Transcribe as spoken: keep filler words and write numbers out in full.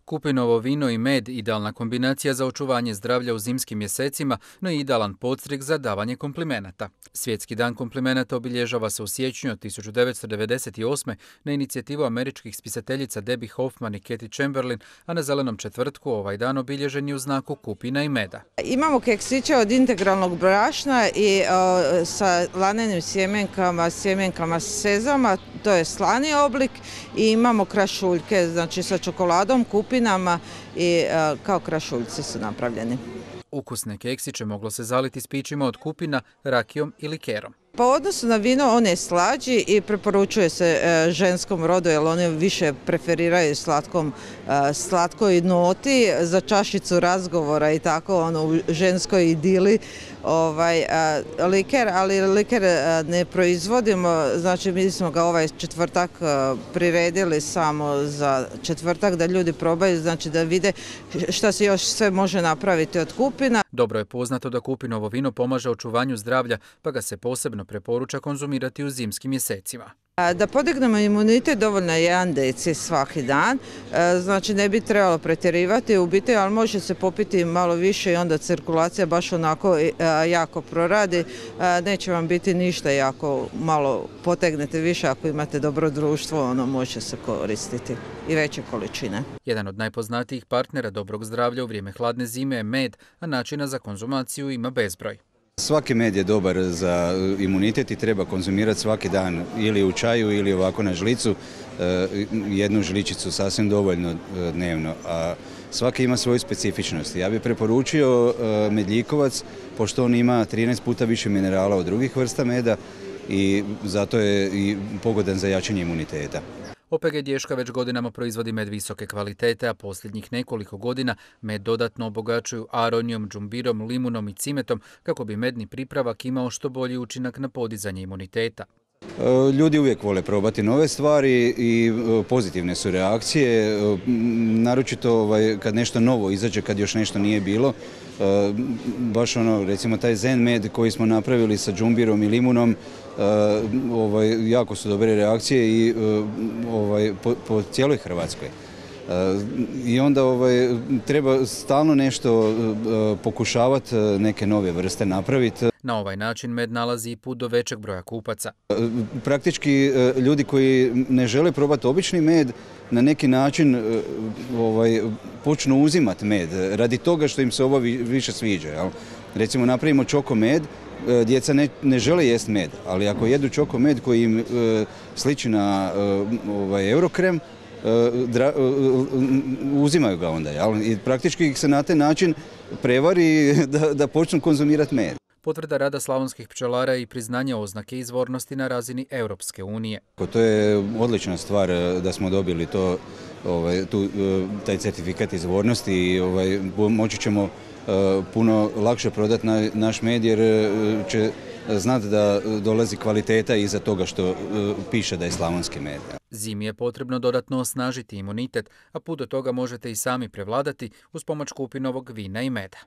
Kupinovo vino i med idealna kombinacija za očuvanje zdravlja u zimskim mjesecima, no i idealan podstrik za davanje komplimenata. Svjetski dan komplimenata obilježava se u siječnju od tisuću devetsto devedeset osme. na inicijativu američkih spisateljica Debbie Hoffman i Katie Chamberlain, a na Zelenom četvrtku ovaj dan obilježen je u znaku kupina i meda. Imamo keksiće od integralnog brašna i o, sa lanenim sjemenkama, sjemenkama sezama, to je slani oblik, i imamo krašuljke, znači sa čokoladom, kupinama i o, kao krašuljci su napravljeni. Ukusne keksiće moglo se zaliti s pićima od kupina, rakijom i likerom. Pa u odnosu na vino on je slađi i preporučuje se ženskom rodu jer oni više preferiraju slatkom, slatkoj noti za čašicu razgovora i tako ono u ženskoj idili. Ovaj, liker, ali liker ne proizvodimo, znači mi smo ga ovaj četvrtak priredili samo za četvrtak da ljudi probaju, znači da vide šta se još sve može napraviti od kupina. Dobro je poznato da kupinovo vino pomaže očuvanju zdravlja, pa ga se posebno preporuča konzumirati u zimskim mjesecima. Da podignemo imunitet dovoljno je jedan deci svaki dan, znači ne bi trebalo pretjerivati u biti, ali može se popiti malo više i onda cirkulacija baš onako jako proradi. Neće vam biti ništa jako malo potegnete više ako imate dobro društvo, ono može se koristiti i veće količine. Jedan od najpoznatijih partnera dobrog zdravlja u vrijeme hladne zime je med, a načina za konzumaciju ima bezbroj. Svaki med je dobar za imunitet i treba konzumirati svaki dan ili u čaju ili ovako na žlicu, jednu žličicu sasvim dovoljno dnevno, a svaki ima svoju specifičnost. Ja bih preporučio medljikovac, pošto on ima trinaest puta više minerala od drugih vrsta meda i zato je i pogodan za jačanje imuniteta. O Pe Ge Dješka već godinama proizvodi med visoke kvalitete, a posljednjih nekoliko godina med dodatno obogaćuju aronijom, džumbirom, limunom i cimetom kako bi medni pripravak imao što bolji učinak na podizanje imuniteta. Ljudi uvijek vole probati nove stvari i pozitivne su reakcije, naročito kad nešto novo izađe, kad još nešto nije bilo. Baš ono, recimo taj zen med koji smo napravili sa džumbirom i limunom, jako su dobre reakcije i po cijeloj Hrvatskoj. I onda treba stalno nešto pokušavati, neke nove vrste napraviti. Na ovaj način med nalazi i put do većeg broja kupaca. Praktički ljudi koji ne žele probati obični med na neki način počnu uzimati med radi toga što im se ovo više sviđa. Recimo napravimo čoko med, djeca ne žele jesti med, ali ako jedu čoko med koji im sliči na Eurokrem, uzimaju ga onda. I praktički ih se na taj način prevari da počnu konzumirati med. Potvrda rada slavonskih pčelara i priznanje oznake izvornosti na razini Europske unije. To je odlična stvar da smo dobili to, tu, taj certifikat izvornosti i moći ćemo puno lakše prodati naš med jer će znati da dolazi kvaliteta iza toga što piše da je slavonski med. Zimi je potrebno dodatno osnažiti imunitet, a put do toga možete i sami prevladati uz pomoć kupinovog vina i meda.